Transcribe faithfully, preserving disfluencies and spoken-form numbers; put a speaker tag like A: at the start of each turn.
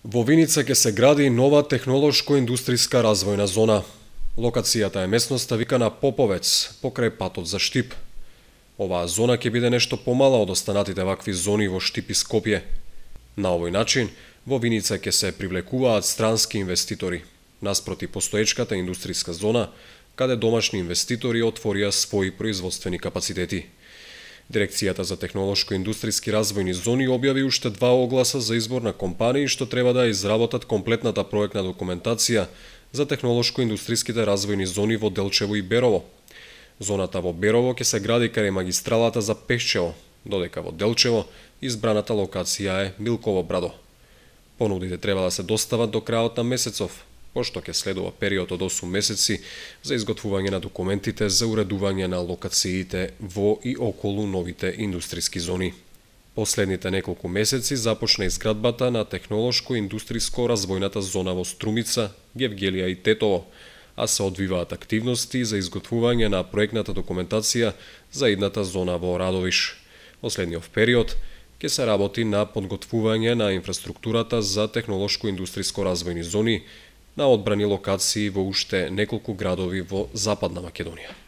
A: Во Виница ќе се гради нова технолошко-индустријска развојна зона. Локацијата е местноста викана Поповец, покрај патот за Штип. Оваа зона ќе биде нешто помала од останатите вакви зони во Штип и Скопје. На овој начин, во Виница ќе се привлекуваат странски инвеститори, наспроти постоечката индустријска зона, каде домашни инвеститори отворија своји производствени капацитети. Дирекцијата за технолошко-индустријски развојни зони објави уште два огласа за избор на компании што треба да изработат комплетната проектна документација за технолошко-индустријските развојни зони во Делчево и Берово. Зоната во Берово ќе се гради кај магистралата за Пешчево, додека во Делчево избраната локација е Милково брадо. Понудите треба да се достават до крајот на месецов, пошто ќе следува период од осум месеци за изготвување на документите за уредување на локациите во и околу новите индустријски зони. Последните неколку месеци започна изградбата на технолошко-индустријско развојната зона во Струмица, Гевгелија и Тетово, а се одвиваат активности за изготвување на проектната документација за идната зона во Радовиш. Последниот период ќе се работи на подготвување на инфраструктурата за технолошко-индустријско развојни зони на одбрани локации во уште неколку градови во Западна Македонија.